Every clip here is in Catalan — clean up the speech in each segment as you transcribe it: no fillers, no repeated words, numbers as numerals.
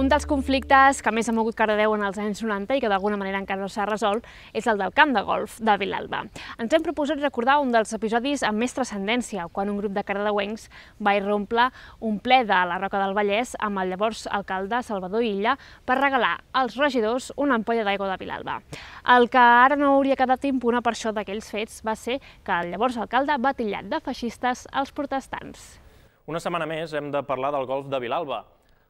Un dels conflictes que més ha mogut Cardedeu en els anys 90 i que d'alguna manera encara no s'ha resolt és el del camp de golf de Vilalba. Ens hem proposat recordar un dels episodis amb més transcendència, quan un grup de cardedeuencs va irrompre un ple de la Roca del Vallès amb el llavors alcalde Salvador Illa per regalar als regidors una ampolla d'aigua de Vilalba. El que ara no hauria quedat impune per això d'aquells fets va ser que el llavors alcalde va titllar de feixistes als protestants. Una setmana més hem de parlar del golf de Vilalba.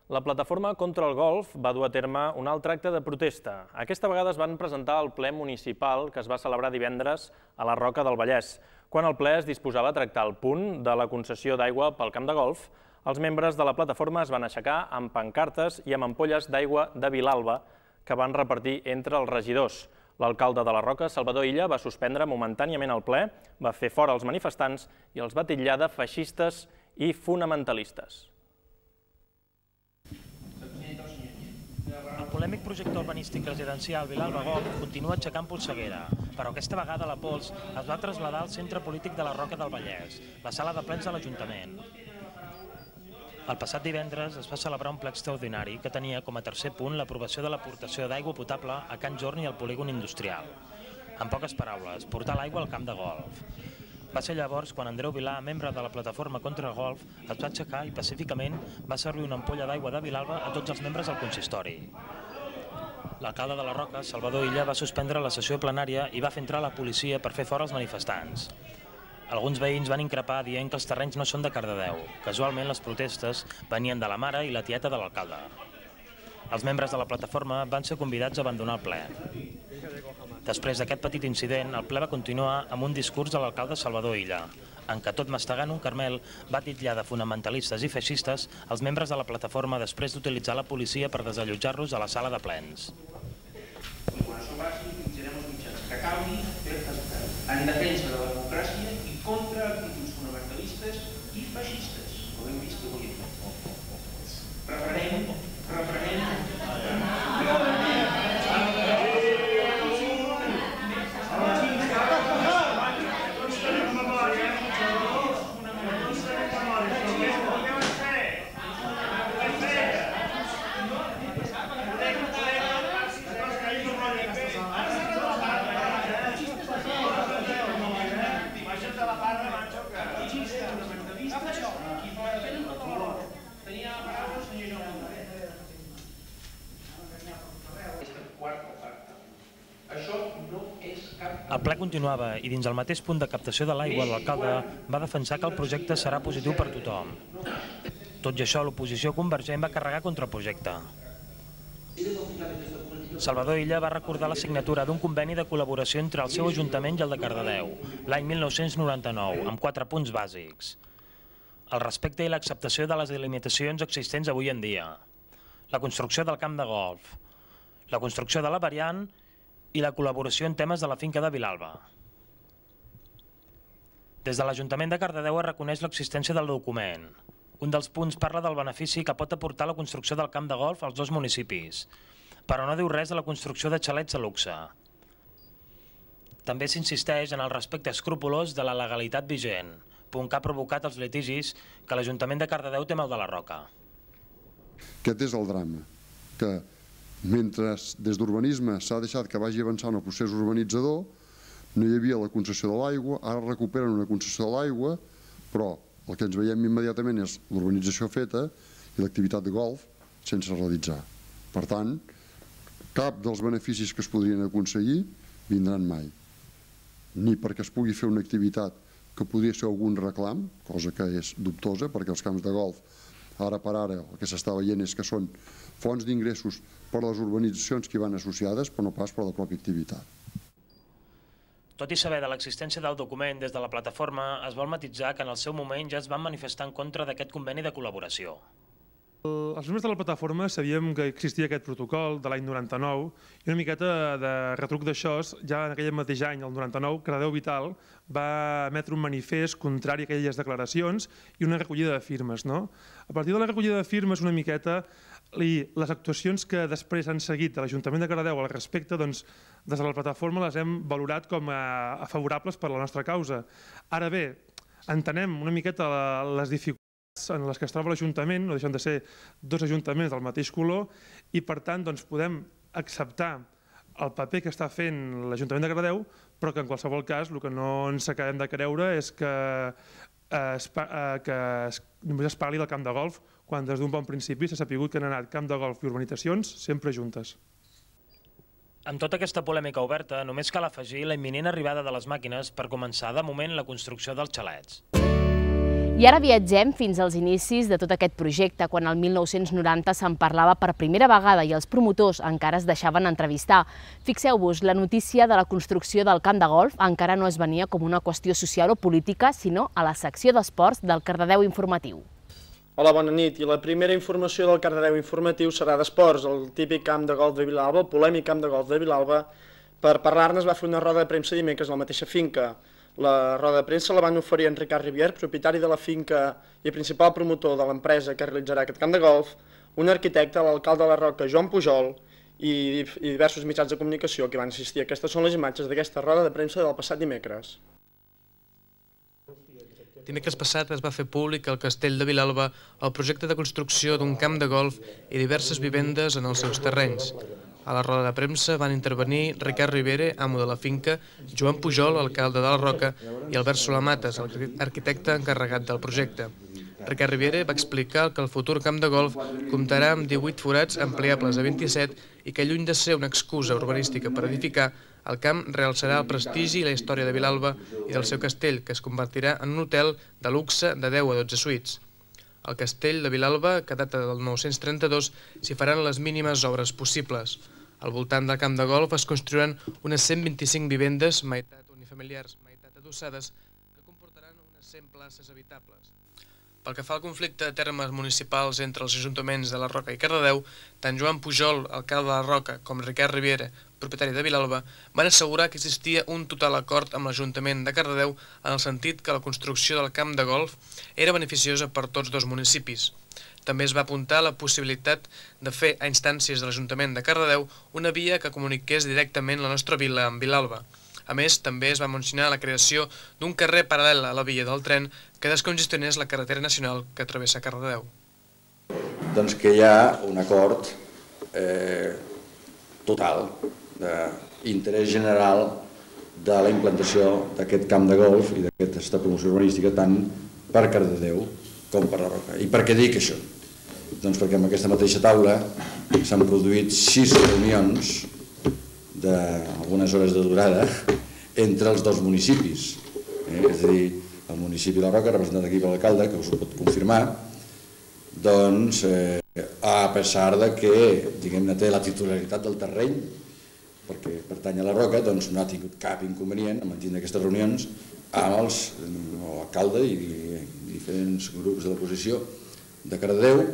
La plataforma contra el golf va dur a terme un altre acte de protesta. Aquesta vegada es van presentar al ple municipal que es va celebrar divendres a la Roca del Vallès. Quan el ple es disposava a tractar el punt de la concessió d'aigua pel camp de golf, els membres de la plataforma es van aixecar amb pancartes i amb ampolles d'aigua de Vilalba que van repartir entre els regidors. L'alcalde de la Roca, Salvador Illa, va suspendre momentàniament el ple, va fer fora els manifestants i els va titllar de feixistes i fonamentalistes. El polèmic projecte urbanístic residencial Vilalba Golf continua aixecant polseguera, però aquesta vegada la pols es va traslladar al centre polític de la Roca del Vallès, la sala de plens de l'Ajuntament. El passat divendres es va celebrar un ple extraordinari que tenia com a tercer punt l'aprovació de l'aportació d'aigua potable a Can Jorni i al polígon industrial. En poques paraules, portar l'aigua al camp de golf. Va ser llavors quan Andreu Vilà, membre de la plataforma contra el golf, es va aixecar i pacíficament va servir una ampolla d'aigua de Vilalba a tots els membres del consistori. L'alcalde de la Roca, Salvador Illa, va suspendre la sessió plenària i va fer entrar la policia per fer fora els manifestants. Alguns veïns van increpar dient que els terrenys no són de Cardedeu. Casualment, les protestes venien de la mare i la tieta de l'alcalde. Els membres de la plataforma van ser convidats a abandonar el ple. Després d'aquest petit incident, el ple va continuar amb un discurs de l'alcalde Salvador Illa, en què tot mastegant un carmel va titllar de fonamentalistes i feixistes els membres de la plataforma després d'utilitzar la policia per desallotjar-los a la sala de plens. En defensa de la democràcia i contra actituds fonamentalistes i feixistes, com hem vist avui. Reprenem. El ple continuava i dins el mateix punt de captació de l'aigua l'alcalde va defensar que el projecte serà positiu per tothom. Tot i això, l'oposició convergent va carregar contra el projecte. Salvador Illa va recordar la signatura d'un conveni de col·laboració entre el seu ajuntament i el de Cardedeu, l'any 1999, amb 4 punts bàsics. El respecte i l'acceptació de les delimitacions existents avui en dia, la construcció del camp de golf, la construcció de la variant i la col·laboració en temes de la finca de Vilalba. Des de l'Ajuntament de Cardedeu es reconeix l'existència del document. Un dels punts parla del benefici que pot aportar la construcció del camp de golf als dos municipis, però no diu res de la construcció de xalets de luxe. També s'insisteix en el respecte escrupolós de la legalitat vigent, punt que ha provocat els litigis que l'Ajuntament de Cardedeu té amb el de la Roca. Aquest és el drama, que mentre des d'urbanisme s'ha deixat que vagi avançant el procés urbanitzador, no hi havia la concessió de l'aigua, ara recuperen una concessió de l'aigua, però el que ens veiem immediatament és l'urbanització feta i l'activitat de golf sense realitzar. Per tant, cap dels beneficis que es podrien aconseguir vindran mai. Ni perquè es pugui fer una activitat que podria ser algun reclam, cosa que és dubtosa, perquè els camps de golf ara per ara el que s'està veient és que són fonts d'ingressos per les urbanitzacions que hi van associades, però no pas per la pròpia activitat. Tot i saber de l'existència del document des de la plataforma, es vol matitzar que en el seu moment ja es van manifestar en contra d'aquest conveni de col·laboració. Els membres de la plataforma sabíem que existia aquest protocol de l'any 99 i una miqueta de retruc d'això, ja en aquell mateix any, el 99, Cardedeu Vital va emetre un manifest contrari a aquelles declaracions i una recollida de firmes. A partir de la recollida de firmes una miqueta i les actuacions que després han seguit de l'Ajuntament de Cardedeu al respecte, des de la plataforma les hem valorat com a favorables per a la nostra causa. Ara bé, entenem una miqueta les dificultats en les que es troba l'Ajuntament, no deixen de ser dos ajuntaments del mateix color, i per tant podem acceptar el paper que està fent l'Ajuntament de Cardedeu, però que en qualsevol cas el que no ens acabem de creure és que només es parli del camp de golf, quan des d'un bon principi s'ha sabut que han anat camp de golf i urbanitzacions sempre juntes. Amb tota aquesta polèmica oberta, només cal afegir la imminent arribada de les màquines per començar, de moment, la construcció dels xalets. I ara viatgem fins als inicis de tot aquest projecte, quan el 1990 se'n parlava per primera vegada i els promotors encara es deixaven entrevistar. Fixeu-vos, la notícia de la construcció del camp de golf encara no es venia com una qüestió social o política, sinó a la secció d'esports del Cardedeu Informatiu. Hola, bona nit. I la primera informació del Cardedeu Informatiu serà d'esports, el típic camp de golf de Vilalba, el polèmic camp de golf de Vilalba. Per parlar-ne es va fer una roda de premsa dimecres a la mateixa finca. La roda de premsa la van oferir en Ricard Rivière, propietari de la finca i principal promotor de l'empresa que realitzarà aquest camp de golf, un arquitecte, l'alcalde de la Roca, Joan Pujol, i diversos mitjans de comunicació que van assistir. Aquestes són les imatges d'aquesta roda de premsa del passat dimecres. Dimecres passat es va fer públic al Castell de Vilalba el projecte de construcció d'un camp de golf i diverses vivendes en els seus terrenys. A la roda de premsa van intervenir Ricard Rivera, amo de la finca, Joan Pujol, alcalde de la Roca, i Albert Solamates, arquitecte encarregat del projecte. Ricard Rivera va explicar que el futur camp de golf comptarà amb 18 forats ampliables a 27 i que, lluny de ser una excusa urbanística per edificar, el camp realçarà el prestigi i la història de Vilalba i del seu castell, que es convertirà en un hotel de luxe de 10 a 12 suites. Al castell de Vilalba, que data del 932, s'hi faran les mínimes obres possibles. Al voltant del camp de golf es construiran unes 125 vivendes, meitat unifamiliars, meitat adossades, que comportaran unes 100 places habitables. Pel que fa al conflicte de termes municipals entre els ajuntaments de la Roca i Cardedeu, tant Joan Pujol, alcalde de la Roca, com Ricard Riviera, propietari de Vilalba, van assegurar que existia un total acord amb l'Ajuntament de Cardedeu en el sentit que la construcció del camp de golf era beneficiosa per tots dos municipis. També es va apuntar la possibilitat de fer a instàncies de l'Ajuntament de Cardedeu una via que comuniqués directament la nostra vila amb Vilalba. A més, també es va mencionar la creació d'un carrer paral·lel a la via del tren que descongestionés la carretera nacional que travessa Cardedeu. Doncs que hi ha un acord total d'interès general de la implantació d'aquest camp de golf i d'aquesta promoció urbanística tant per Cardedeu com per la Roca. I per què dic això? Doncs perquè amb aquesta mateixa taula s'han produït 6 reunions d'algunes hores de durada entre els dos municipis. És a dir, el municipi de la Roca, representat aquí per l'alcalde, que us ho pot confirmar, doncs, a pesar de que, diguem-ne, té la titularitat del terreny, perquè pertany a la Roca, doncs no ha tingut cap inconvenient en mantenir aquestes reunions amb l'alcalde i diferents grups de l'oposició de Cardedeu,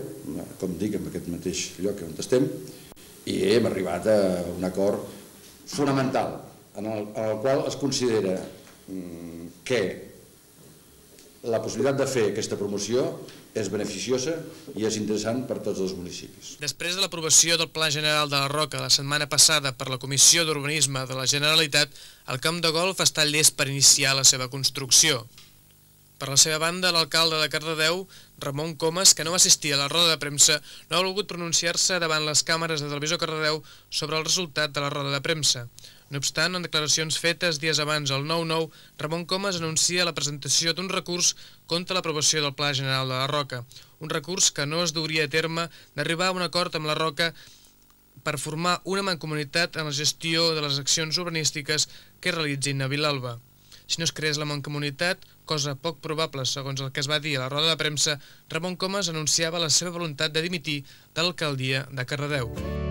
com dic, en aquest mateix lloc on estem, i hem arribat a un acord fonamental, en el qual es considera que la possibilitat de fer aquesta promoció és beneficiosa i és interessant per tots els municipis. Després de l'aprovació del Pla General de la Roca la setmana passada per la Comissió d'Urbanisme de la Generalitat, el camp de golf està llest per iniciar la seva construcció. Per la seva banda, l'alcalde de Cardedeu, Ramon Comas, que no va assistir a la roda de premsa, no ha volgut pronunciar-se davant les càmeres de Televisió Cardedeu sobre el resultat de la roda de premsa. No obstant, en declaracions fetes dies abans al 9-9, Ramon Comas anuncia la presentació d'un recurs contra l'aprovació del Pla General de la Roca, un recurs que no es duria a terme d'arribar a un acord amb la Roca per formar una mancomunitat en la gestió de les accions urbanístiques que realitzin a Vilalba. Si no es creés la mancomunitat, cosa poc probable segons el que es va dir a la roda de premsa, Ramon Comas anunciava la seva voluntat de dimitir de l'alcaldia de Cardedeu.